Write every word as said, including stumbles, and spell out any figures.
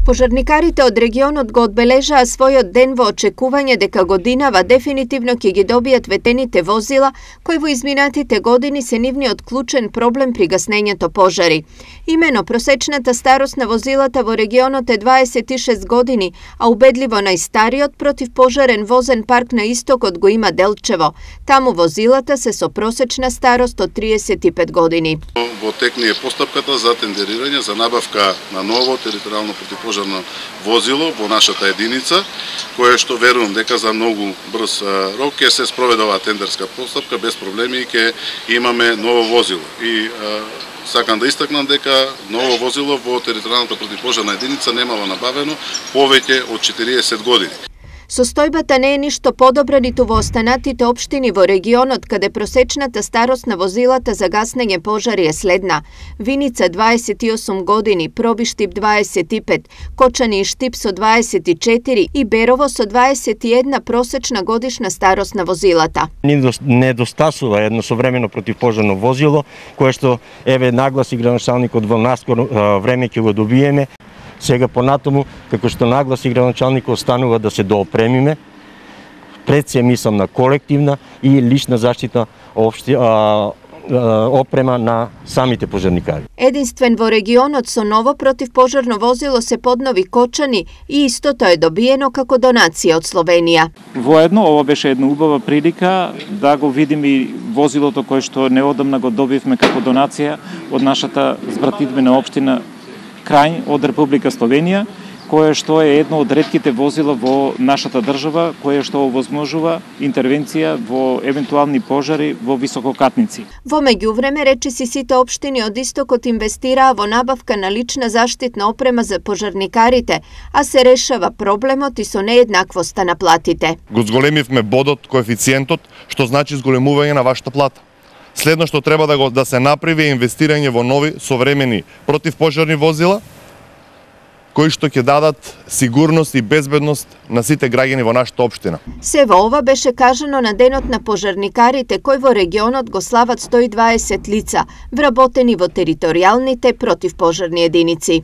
Пожарникарите од регионот го одбележаа својот ден во очекување дека годинава дефинитивно ќе ги добијат ветените возила, кои во изминатите години се нивниот клучен проблем при гаснењето пожари. Имено просечната старост на возилата во регионот е дваесет и шест години, а убедливо најстариот противпожарен возен парк на истокот го има Делчево. Таму возилата се со просечна старост од триесет и пет години. Во тек е постапката за тендерирање за набавка на ново територијално противпожарно возило во нашата единица, кое што верувам дека за многу брз рок ќе се спроведе оваа тендерска постапка без проблеми и ќе имаме ново возило. И а, сакам да истакнам дека ново возило во територијалната противпожарна единица немало набавено повеќе од четириесет години. Состојбата не е ништо подобра ниту во останатите општини во регионот, каде просечната старост на возилата за гаснење пожари е следна. Виница дваесет и осум години, Пробиштип дваесет и пет, Кочани и Штип со дваесет и четири и Берово со дваесет и една просечна годишна старост на возилата. Недостасува едно современо противпожарно возило, кое што еве нагласи градоначалникот во наскоро време ќе го добиеме. Сега понатаму, како што нагласи градоначалникот, останува да се доопремиме. Пред се мислам на колективна и лична заштитна општи, а, а, опрема на самите пожарникари. Единствен во регионот со ново противпожарно возило се поднови Кочани и истото е добиено како донација од Словенија. Воедно, ова беше една убава прилика да го видиме и возилото кое што неодамна го добивме како донација од нашата збратидбена општина Крај од Република Словенија, кое што е едно од ретките возила во нашата држава, кое што овозможува интервенција во евентуални пожари во висококатници. Во меѓувреме, речиси сите општини од истокот инвестираа во набавка на лична заштитна опрема за пожарникарите, а се решава проблемот и со нееднаквоста на платите. Го зголемивме бодот, коефициентот, што значи зголемување на вашата плата. Следно што треба да го да се направи е инвестирање во нови современи противпожарни возила кои што ќе дадат сигурност и безбедност на сите граѓани во нашата општина. Се во ова беше кажано на денот на пожарникарите кој во регионот го слават сто и дваесет лица, вработени во територијалните противпожарни единици.